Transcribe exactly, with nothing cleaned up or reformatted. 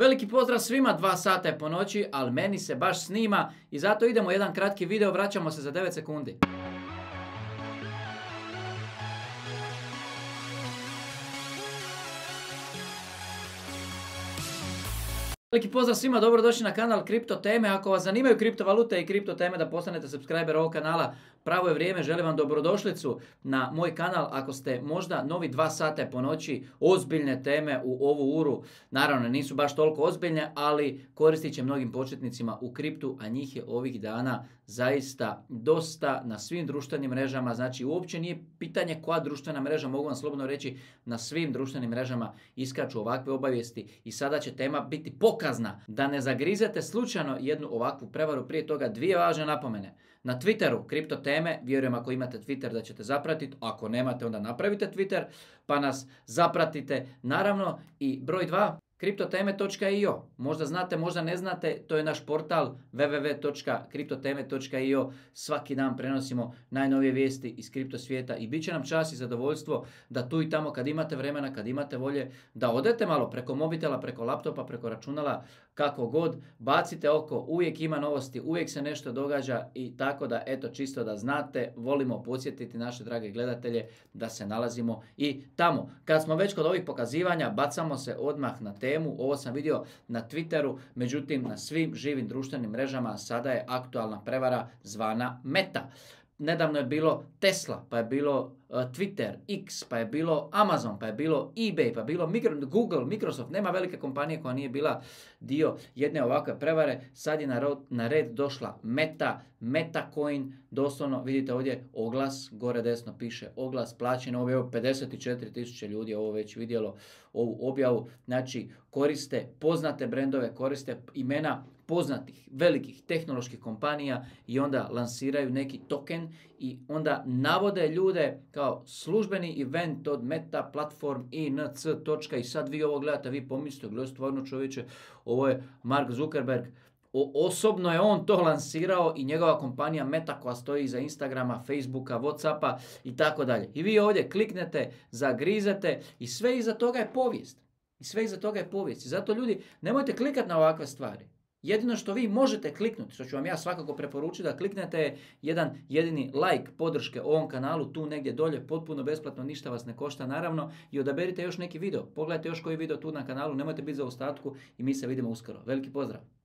Veliki pozdrav svima, dva sata je po noći, ali meni se baš snima i zato idemo u jedan kratki video, vraćamo se za devet sekundi. Veliki pozdrav svima, dobrodošli na kanal Kripto teme. Ako vas zanimaju kriptovalute i kripto teme da postanete subscriber ovog kanala, pravo je vrijeme, želim vam dobrodošlicu na moj kanal. Ako ste možda novi dva sata po noći, ozbiljne teme u ovu uru, naravno nisu baš toliko ozbiljne, ali koristit će mnogim početnicima u kriptu, a njih je ovih dana zaista dosta na svim društvenim mrežama. Znači uopće nije pitanje koja društvena mreža, mogu vam slobodno reći, na svim društvenim mrežama iskaču ovakve obavijesti i sada će tema biti pokazna da ne zagrizete slučajno jednu ovakvu prevaru. Prije toga dvije važne napomene. Na Twitteru kripto teme, vjerujem ako imate Twitter da ćete zapratiti, ako nemate onda napravite Twitter pa nas zapratite. Naravno i broj dva, kripto teme točka i o. Možda znate, možda ne znate, to je naš portal w w w točka kripto teme točka i o. Svaki dan prenosimo najnovije vijesti iz kripto svijeta i bit će nam čast i zadovoljstvo da tu i tamo kad imate vremena, kad imate volje, da odete malo preko mobitela, preko laptopa, preko računala, kako god, bacite oko, uvijek ima novosti, uvijek se nešto događa i tako da, eto, čisto da znate, volimo podsjetiti naše drage gledatelje da se nalazimo i tamo. Kad smo već kod ovih pokazivanja, bacamo se odmah na temu. Ovo sam vidio na Twitteru, međutim na svim živim društvenim mrežama sada je aktualna prevara zvana Meta. Nedavno je bilo Tesla, pa je bilo uh, Twitter, X, pa je bilo Amazon, pa je bilo eBay, pa je bilo Micro, Google, Microsoft. Nema velike kompanije koja nije bila dio jedne ovakve prevare. Sad je na, ro, na red došla Meta, Metacoin, doslovno vidite ovdje oglas, gore desno piše oglas, plaćeno objavu, pedeset četiri tisuće ljudi ovo već vidjelo ovu objavu. Znači koriste poznate brendove, koriste imena poznatih, velikih tehnoloških kompanija i onda lansiraju neki token i onda navode ljude kao službeni event od Meta Platform inc. I sad vi ovo gledate, vi pomislite, gledaj stvarno čovječe, ovo je Mark Zuckerberg. O, osobno je on to lansirao i njegova kompanija Meta koja stoji iza Instagrama, Facebooka, Whatsappa i tako dalje. I vi ovdje kliknete, zagrizete i sve iza toga je povijest. I sve iza toga je povijest. I zato ljudi, nemojte klikati na ovakve stvari. Jedino što vi možete kliknuti, što ću vam ja svakako preporučiti da kliknete jedan jedini like podrške ovom kanalu tu negdje dolje, potpuno besplatno, ništa vas ne košta naravno, i odaberite još neki video. Pogledajte još koji video tu na kanalu, nemojte biti za ostatku i mi se vidimo uskoro. Veliki pozdrav!